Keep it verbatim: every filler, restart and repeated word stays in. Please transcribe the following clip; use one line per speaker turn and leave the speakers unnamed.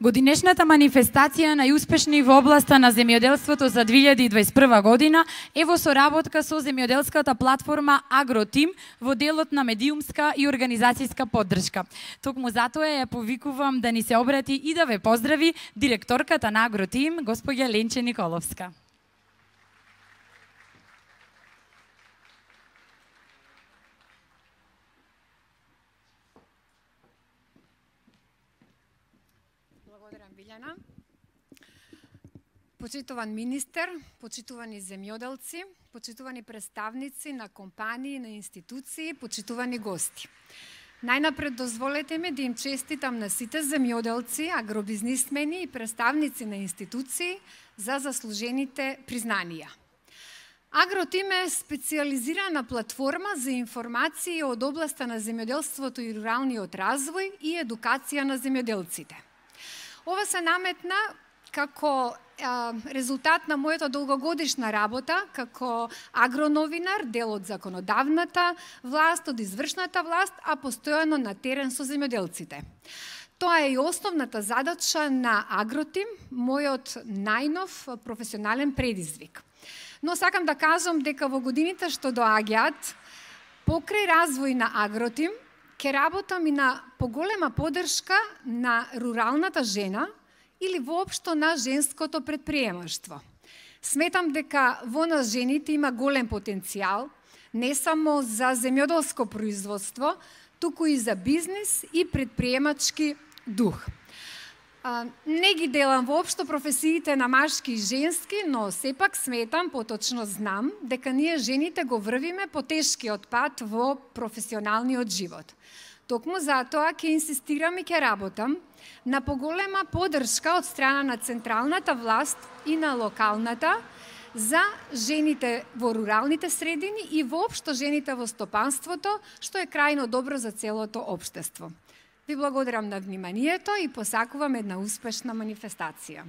Годинешната манифестација најуспешни во областа на земјоделството за две илјади и дваесет и прва година е во соработка со земјоделската платформа Агротим во делот на медиумска и организацијска поддршка. Токму затоа ја повикувам да ни се обрати и да ве поздрави директорката на Агротим, госпоѓа Ленче Николовска.
Благодарам, Билјана. Почитуван министер, почитувани земјоделци, почитувани представници на компании, на институции, почитувани гости. Најнапред дозволете ми да им честитам на сите земјоделци, агробизнисмени и представници на институции за заслужените признанија. Агротим е специализирана платформа за информации од областа на земјоделството и руралниот развој и едукација на земјоделците. Ова се наметна како а, резултат на мојата долгогодишна работа како агроновинар, дел од законодавната власт, од извршната власт, а постојано на терен со земјоделците. Тоа е и основната задача на Агротим, мојот најнов професионален предизвик. Но сакам да кажам дека во годините што доаѓаат, покрај развој на Агротим, ќе работам и на поголема поддршка на руралната жена или воопшто на женското предприемаштво. Сметам дека во нас жените има голем потенцијал, не само за земјоделско производство, туку и за бизнис и предприемачки дух. А, не ги делам воопшто професиите на машки и женски, но сепак сметам, поточно знам, дека ние жените го врвиме по тешкиот пат во професионалниот живот. Токму затоа ќе инсистирам и ќе работам на поголема поддршка од страна на централната власт и на локалната за жените во руралните средини и воопшто жените во стопанството, што е крајно добро за целото општество. Ви благодарам на вниманието и посакувам една успешна манифестација.